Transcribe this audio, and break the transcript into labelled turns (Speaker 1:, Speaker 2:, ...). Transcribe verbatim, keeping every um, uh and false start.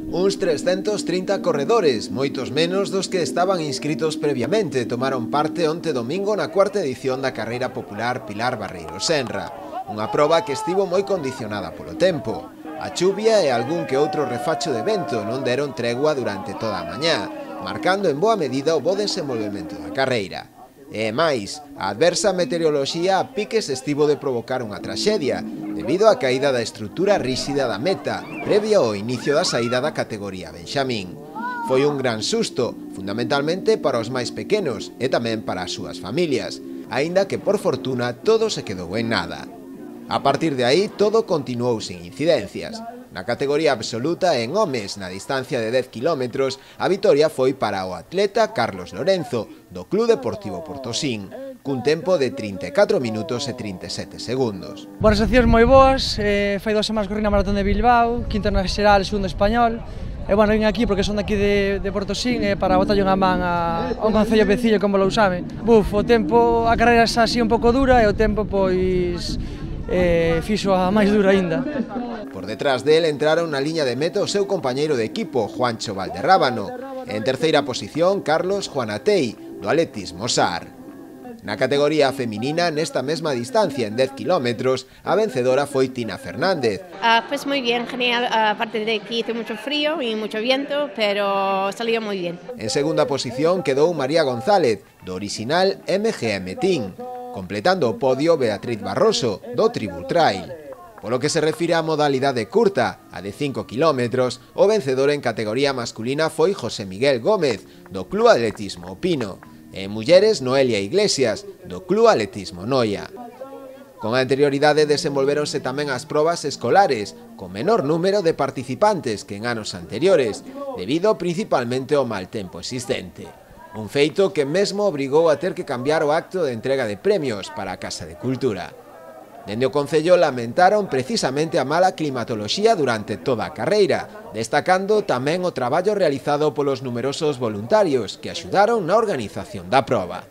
Speaker 1: Uns trescentos trinta corredores, moitos menos dos que estaban inscritos previamente, tomaron parte onte domingo na cuarta edición da carreira popular Pilar Barreiro Senra, unha proba que estivo moi condicionada polo tempo. A chuvia e algún que outro refacho de vento non deron tregua durante toda a mañá, marcando en boa medida o bo desenvolvemento da carreira. E máis, a adversa meteoroloxía a piques estivo de provocar unha traxedia, debido á caída da estrutura ríxida da meta, previa ao inicio da saída da categoría Benxamín. Foi un gran susto, fundamentalmente para os máis pequenos e tamén para as súas familias, aínda que por fortuna todo se quedou en nada. A partir de aí, todo continuou sin incidencias. Na categoría absoluta en homes, na distancia de dez kilómetros, a vitoria foi para o atleta Carlos Lorenzo, do Club Deportivo Portosín, cun tempo de trinta e catro minutos e trinta e sete segundos.
Speaker 2: Boas sensacións moi boas, eh, fai dos semanas corri na Maratón de Bilbao, quinta na xeral, segundo español, e bueno, vim aquí porque son daqui de, de Portosín e para botar unha man a, a un concello veciño como Lousame. Buf, o tempo, a carreira xa así un pouco dura e o tempo pois eh, fixo a máis dura aínda.
Speaker 1: Por detrás del entraron na liña de meta o seu compañeiro de equipo, Juancho Valderrábano, e en terceira posición, Carlos Juanatei, do atletismo Sar. Na categoría feminina, nesta mesma distancia, en dez kilómetros, a vencedora foi Tina Fernández.
Speaker 3: Uh, pues muy bien, genial, aparte de que hizo mucho frío y mucho viento, pero salió muy bien.
Speaker 1: En segunda posición quedou María González, do original M G M Team, completando o podio Beatriz Barroso, do Tribul Trail. Polo que se refire á modalidade curta, a de cinco kilómetros, o vencedor en categoría masculina foi José Miguel Gómez, do Club Atletismo O Pino, e en mulleres Noelia Iglesias, do Club Atletismo Noia. Con anterioridade desenvolveronse tamén as probas escolares, con menor número de participantes que en anos anteriores, debido principalmente ao mal tempo existente. Un feito que mesmo obrigou a ter que cambiar o acto de entrega de premios para a Casa de Cultura. Dende o Concello lamentaron precisamente a mala climatoloxía durante toda a carreira, destacando tamén o traballo realizado polos numerosos voluntarios que axudaron na organización da proba.